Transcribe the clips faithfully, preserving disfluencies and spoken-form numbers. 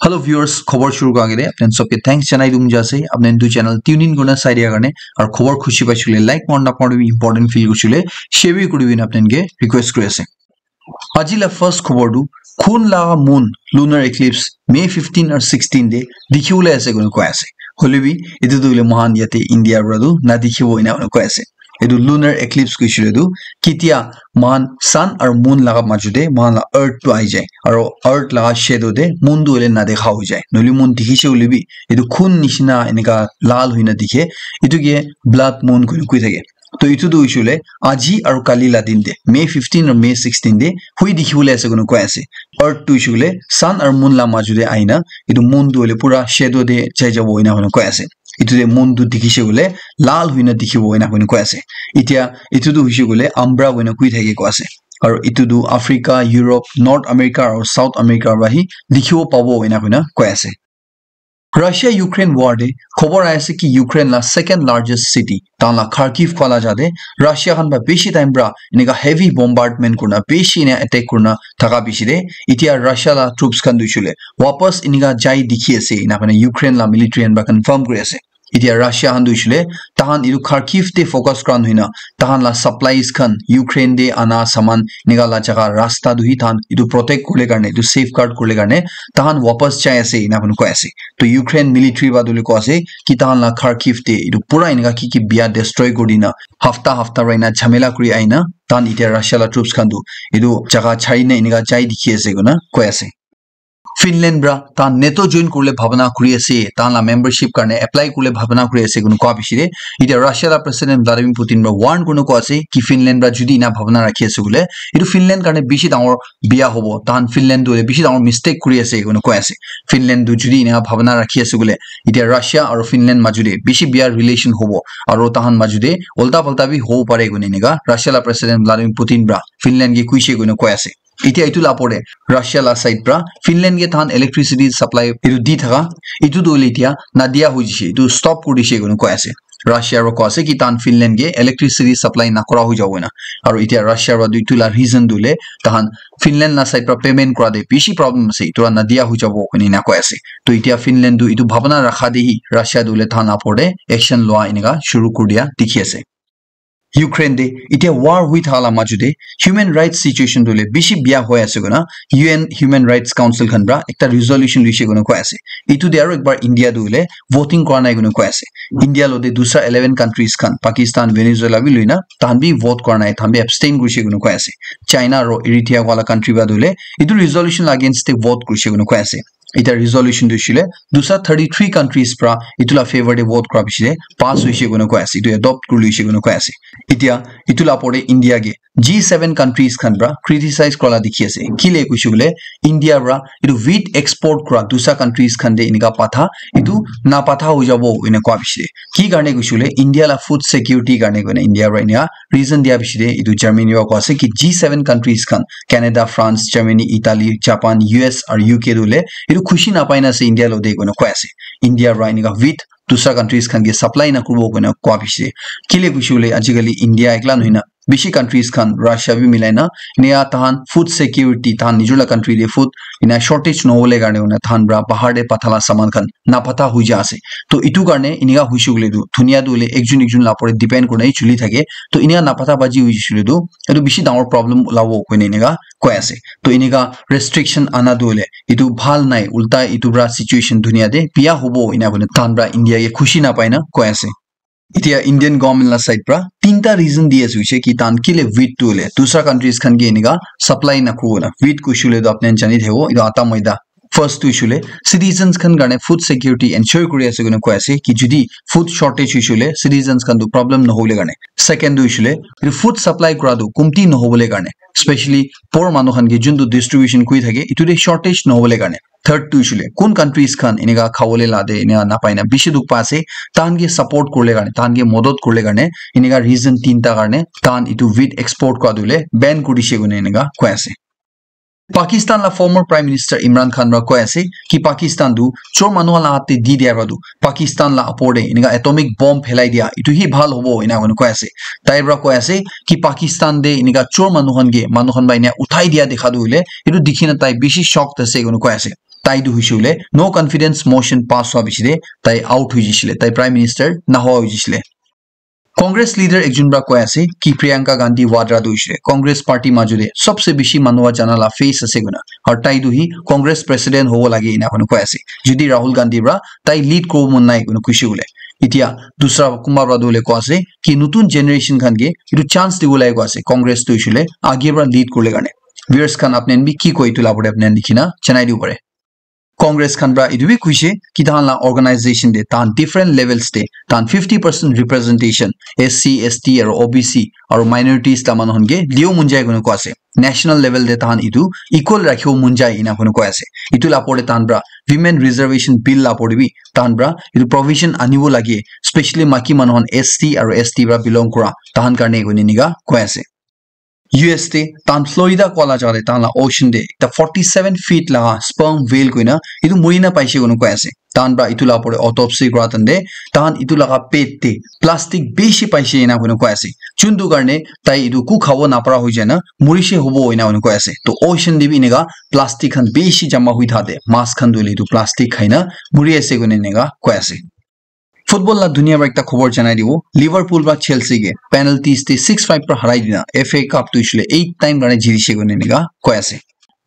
Hello viewers, khobor shuru kura agete apni khan sobke thanks janai dum jase. Apni khan etu channel tune in kurina sai dia karne, aru khobor khushi paishe koile like, mon na important feel kurishe koile share bi kuri dina apni khan ke request kuri ase. Aji la first khobor tu khun laga moon lunar eclipse May fifteen aru sixteen te dikhi bole ase koina koi ase. Hoile bi etu tu hoile moikhan yate India para tu na dikhibo ena koina koi ase. Etu lunar eclipse koishe koile tu ketia moikhan sun aru moon laga majo te moikhan la earth tu ahi jai, aru earth laga shadow te moon tu hoile na dekha hoi jai. Nohoile moon dikhishe koile bi etu khun nishina enika lal hoina dikhe, etu ke blood moon koina koi thake. To etu tu hoishe koile aji aru kali la din te, May fifteen aru May sixteen te hui dikhi bole ase koina koi ase. Earth tu hoishe koile sun aru moon la majo te ahina etu moon tu hoile pura shadow te jai jabo ena koina koi ase. Etu te moon tu dikhishe koile lal hoina dikhibo ena koina koi ase. Etia etu tu hoishe koile umbra koina koi thake koi ase. Aru etu tu Africa, Europe, North America aru South America para hi dikhibo pabo ena koina koi ase. Russia Ukraine war te khobor ahi ase ki Ukraine la second largest city, tahan la Kharkiv koa la jaga te Russia khan para bishi time para enika heavy bombardment kurina, bishi ena attack kurina thaka bishi te, etia Russia la troops khan tu hoishe koile wapas enika jai dikhi ase ena koina Ukraine la military khan para confirm kuri ase. Etia Russia khan tu hoishe koile tahan etu Kharkiv te focus kura nohoi na, tahan la supplies khan, Ukraine te ana saman enika la jaga rasta tu hi tahan etu protect kuribole karne, etu safeguard kuribole karne tahan wapas jai ase ena koina koi ase. To Ukraine military para tu hoile koi ase ki tahan la Kharkiv te etu pura enika ki ki bia destroy kuri dina, hafta hafta para ena jhamela kuri ahina, tahan etia Russia la troops khan tu etu jaga chari na enika jai dikhi ase koina koi ase. Finland para tahan NATO join kuribole bhabana kuri ase, tahan la membership karne apply kuribole bhabana kuri ase koina koa bishi te, etia Russia la President Vladimir Putin para warn kurina koa ase ki Finland para jodi ena bhabana rakhi ase koile, etu Finland karne bishi dangor bia hobo, tahan Finland tu hoile bishi dangor mistake kuri ase koina koi ase. Finland tu jodi ena bhabana rakhi ase koile, etia Russia aru Finland majo te bishi bia relation hobo, aru tahan majo te ulta palta bi hobo pare koina enika Russia la President Vladimir Putin para Finland ke koishe koina koi ase. Etia etu la opor te Russia la side para Finland ke tahan electricity supply etu di thaka, etu tu hoile etia nadia hoi jishe, etu stop kuri dishe koina koi ase. Russia para koi ase ki tahan Finland ke electricity supply nakura hoi jabo koina. Aru etia Russia para tu etu la reason tu hoile tahan Finland la side para payment kura te bishi problem ase, etu la nadia hoi jabo koina ena koi ase. To etia Finland tu etu bhabana rakha te hi Russia tu hoile tahan la opor te action lua enika shuru kuri dia dikhi ase. Ukraine te etia war hoi thaka la majo te human rights situation tu hoile bishi bia hoi ase koina U N Human Rights Council khan para ekta resolution loishe koina koi ase. Etu te aru ekbar India tu hoile voting kura nai koina koi ase. India lo te dusra eleven countries khan, Pakistan, Venezuela bi loina, tahan bi vote kura nai, tahan bi abstain kurishe koina koi ase. China aru Eritrea wala country para tu hoile etu resolution la against te vote kurishe koina koi ase. Etia resolution tu hoishe koile dusra thirty three countries para etu la favour te vote kura bishi te pass hoishe koina koi ase, etu adopt kuri loishe koina koi ase. Etia etu la opor te India ke G seven countries khan para criticize kura la dikhi ase. Kile koishe koile India para etu wheat export kura dusra countries khan te enika patha, etu napatha hoi jabo ena koa bishi te. Ki karne koishe koile India la food security karne koina India para enika reason dia bishi te etu Germany para koi ase ki G seven countries khan, Canada, France, Germany, Italy, Japan, U S aru U K tu hoile etu khushi napai na ase India lo te koina koi ase. India para enika wheat dusra countries khan ke supply nakuribo koina koa bishi te. Kile koishe koile ajikali India ekla nohoi na bishi countries khan, Russia bi milai na, enika tahan food security, tahan nijor la country te food ena shortage nohobole karne koina tahan para bahar te patha la saman khan napatha hoi ja ase. To etu karne enika hoishe koile tu dunia tu hoile ekjon ekjon la opor te depend kurina hi chuli thake. To enika napatha baji hoishe koile tu etu bishi dangor problem ulabo koina enika koi ase. To enika restriction ana tu hoile etu bhal nai, ulta etu para situation dunia te bia hobo ena koina tahan para India ke khushi napai na koi ase. Etia Indian government la side para tinta reason di ase hoishe ki tahan kile wheat tu hoile dusra countries khan ke enika supply nakuribo na. Wheat koishe koile tu apni khan jani thakibo, etu atta maida. First tu hoishe koile citizens khan karne food security ensure kuri ase koina koi ase ki jodi food shortage hoishe koile citizens khan tu problem nohobole karne. Second tu hoishe koile etu food supply kura tu kumti nohobole karne, specially poor manu khan ke jun tu distribution kuri thake etu te shortage nohobole karne. Third tu hoishe koile kun countries khan enika khabole la te enika napai na bishi dukh pa ase, tahan ke support kuribole karne, tahan ke modot kuribole karne enika reason tinta karne tahan etu wheat export kura tu hoile ban kuri dishe koina enika koi ase. Pakistan la former Prime Minister Imran Khan para koi ase ki Pakistan tu chor manu khan la hath te di dia para tu Pakistan la opor te enika atomic bomb phelai dia etu hi bhal hobo ena koina koi ase. Tai para koi ase ki Pakistan te enika chor manu khan ke, manu khan para ena uthai dia dikha tu hoile etu dikhi na tai bishi shocked ase koina koi ase. Tai tu hoishe hoile no confidence motion pass hwa bishi de tai out hoi jishile, tai prime minister nahwa hoi jishile. Congress leader ekjon pra koi ase ki Priyanka Gandhi Vadra tu hoishe Congress party majo de sobse bishi manu wa jana la face ase koina, aru tai tu hi Congress president hobo lage ena koina koi ase. Jodi Rahul Gandhi pra tai lead kuribo mon nai koina koishe hoile, etia dusra kunba pra tu hoile koi ase ki notun generation khan ke etu chance dibo lage koi ase Congress tu hoishe hoile age pra lead kurle karne. Viewers khan apni khan bi ki koi etu la opor de apni khan likhi na janai dibo pare. Congress khan pra etu bi koishe ki tahan la organization de tahan different levels de tahan fifty percent representation S C, S T aru O B C aru minorities la manu khan ke liyo mon jai koina koi ase. National level de tahan etu equal rakhibo mon jai ena koina koi ase. Etu la opor de tahan pra women reservation bill la opor de bi tahan pra etu provision anibo lage, specially maki manu khan S C aru S T pra belong kura tahan karne koina enika koi ase. U S te tahan Florida koa la jaga te tahan la ocean te ekta forty seven feet laga sperm whale koina etu muri na paise koina koi ase. Tahan pra etu la opor te autopsy kura time te tahan etu laga pet te plastic bishi paise ena koina koi ase. Chuntu karne tai etu ku khabo napara hoi jai na murise hobo ena koina koi ase. To ocean te bi eneka plastic khan bishi jama hoi thate mas khan tu hoile etu plastic khai na muri ase koina eneka koi ase. Football la dunia pra ekta khobor janai dibo. Liverpool pra Chelsea ke penalties te six five pra harai dina F A Cup tu hoishe hoile eight time karne jitishe koina enika koi ase.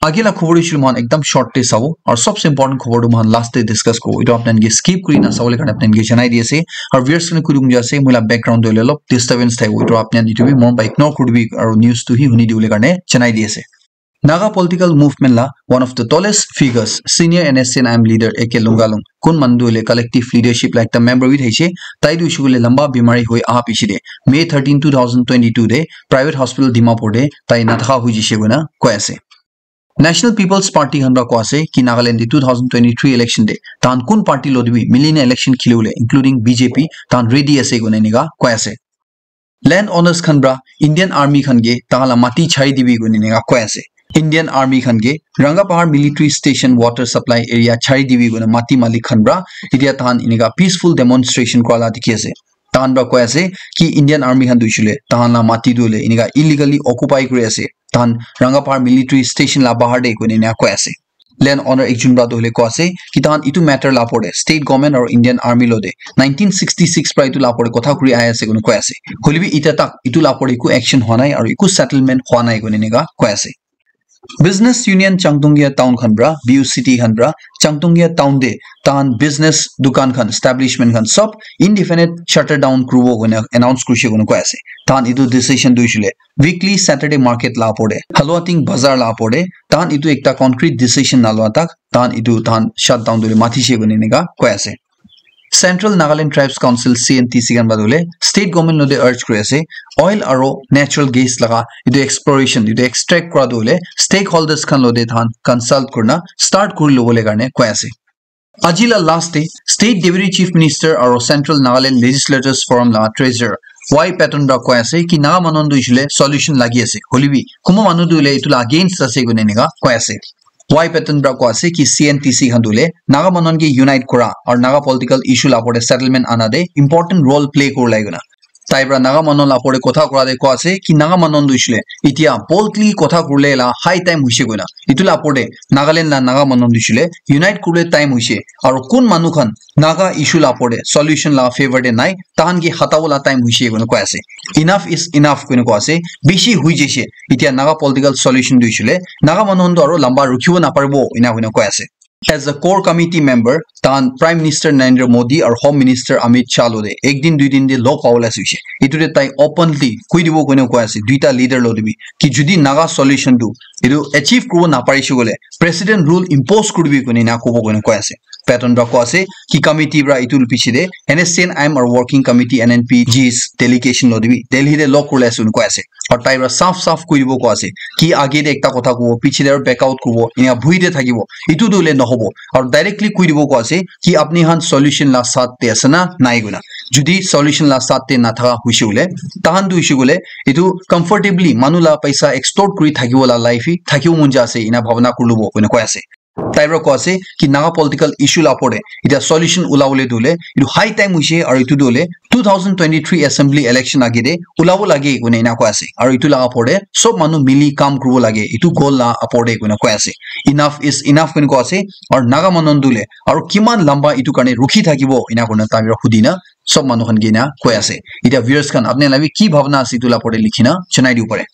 Age la khobor hoishe hoile moikhan ekdam short te sabo, aru sobse important khobor tu moikhan last te discuss kuribo. Etu apni khan ke skip kuri na sabole karne apni khan ke janai di ase. Aru viewers khan kuri dum ase, moi la background te hoile olop disturbance thakibo, etu apni khan etu bi mon pra ignore kuri dibi, aru news tu hi huni dibole karne janai di ase. Naga political movement la one of the tallest figures, senior N S C N I M leader A K Lungalung, kun manu tu hoile collective leadership la ekta member bi thaise, tai tu hoishe koile lamba bimari hoi aha piche de May thirteen, two thousand twenty-two de private hospital Dimapur de tai nathaka hoi jishe koina koi ase. National People's Party khan pra koi ase ki Nagaland de two thousand twenty-three election de tahan kun party lo de bi mili na election khili bole including B J P tahan ready ase koina enika koi ase. Land owners khan pra Indian Army khan ke tahan la mati chari dibi koina enika koi ase. Indian Army khan ke Rangapahar Military Station water supply area chari dibi koina mati malik khan pra etia tahan enika peaceful demonstration kura la dikhi ase. Tahan pra koi ase ki Indian Army khan tu hoishe hoile tahan la mati tu hoile enika illegally occupy kuri ase. Tahan Rangapahar Military Station la bahar de koina enika koi ase. Land owner ekjon pra tu hoile koi ase ki tahan etu matter la opor de state government aru Indian Army lo de nineteen sixty six pra etu la opor de kotha kuri ahi ase koina koi ase. Hoile bi etia tak etu la opor de eku action hua nai aru eku settlement hua nai koina enika koi ase. Business Union Changtongia Town khan pra, B U C T khan pra, Changtongia Town de tahan business dukan khan, establishment khan sob indefinite shutter down kuribo koina announce kurishe koina koi ase. Tahan etu decision tu hoishe hoile weekly Saturday market la opor de, Haluating Bazar la opor de, tahan etu ekta concrete decision nalua tak, tahan etu tahan shutdown tu hoile mathishe koina enika koi ase. Central Nagaland Tribes Council, C N T C khan pra tu hoile state government lo de urge kuri ase, oil aru natural gas laga etu exploration, etu extract kura tu hoile stakeholders khan lo de tahan consult kurina start kuri lobole karne koi ase. Aji la last te State Deputy Chief Minister aru Central Nagaland Legislators Forum la Treasurer Y Patton pra koi ase ki Naga manu tu hoishe hoile solution lagi ase. Hoile bi kunba manu tu hoile etu la against ase koina enika koi ase. Y Patton pra koi ase ki C N T C khan tu hoile Naga manu ke unite kura aru Naga political issue la opor de settlement ana de important role play kuri lage koina. Tai pra Naga manu la opor de kotha kura de koi ase ki Naga manu tu hoishe hoile etia boldly kotha kuribole la high time hoishe koina. Etu la opor de Nagaland la Naga manu tu hoishe hoile unite kuribole time hoishe. Aru kun manu khan Naga issue la opor de solution la favor de nai, tahan ke hatabo la time hoishe koina koi ase. Enough is enough koina koi ase. Bishi hoi jaise. Etia Naga political solution tu hoishe hoile Naga manu khan tu aru lamba rukhibo naparibo ena koina koi ase. As a core committee member, tahan Prime Minister Narendra Modi aru Home Minister Amit Shah lo de ek din dui din de log pabole ase hoishe. Etu de tai openly koi dibo koina koi ase, duita leader lo de bi, ki jodi Naga solution tu etu achieve kuribo naparishe koile, President rule impose kuribi koina ena kobo koina koi ase. Patton pra koi ase ki committee pra etu piche de N S C N I M aru working committee N N P Gs delegation lo de bi Delhi de log kuribole ase koina koi ase. Aru tai pra saf saf koi dibo koi ase ki age de ekta kotha kobo, piche de aru back out kuribo, ena bhui de thakibo, etu tu hoile nahobo. Aru directly koi dibo koi ase ki apni khan solution la saath de ase na nai koina. Jodi solution la saath de nathaka hoishe koile, tahan tu hoishe koile etu comfortably manu la paisa extort kuri thakibo la life hi thakibo mon jai ase, ena bhabona kuri lobo koina koi ase. Tai para koi ase ki Naga political issue la opor te etia solution ulabole tu hoile etu high time hoise, aru etu tu hoile two thousand twenty-three assembly election age te ulabo lage koina ena koi ase, aru etu laga opor te sob manu mili kam kuribo lage, etu goal la opor te koina koi ase. Enough is enough koina koi ase, aru Naga manu tu hoile aru kiman lamba etu karne rukhi thakibo ena koina tai para hudi na sob manu khan ke ena koi ase. Etia viewers khan apni khan la bi ki bhabna ase etu la opor te likhi na janai dibo pare.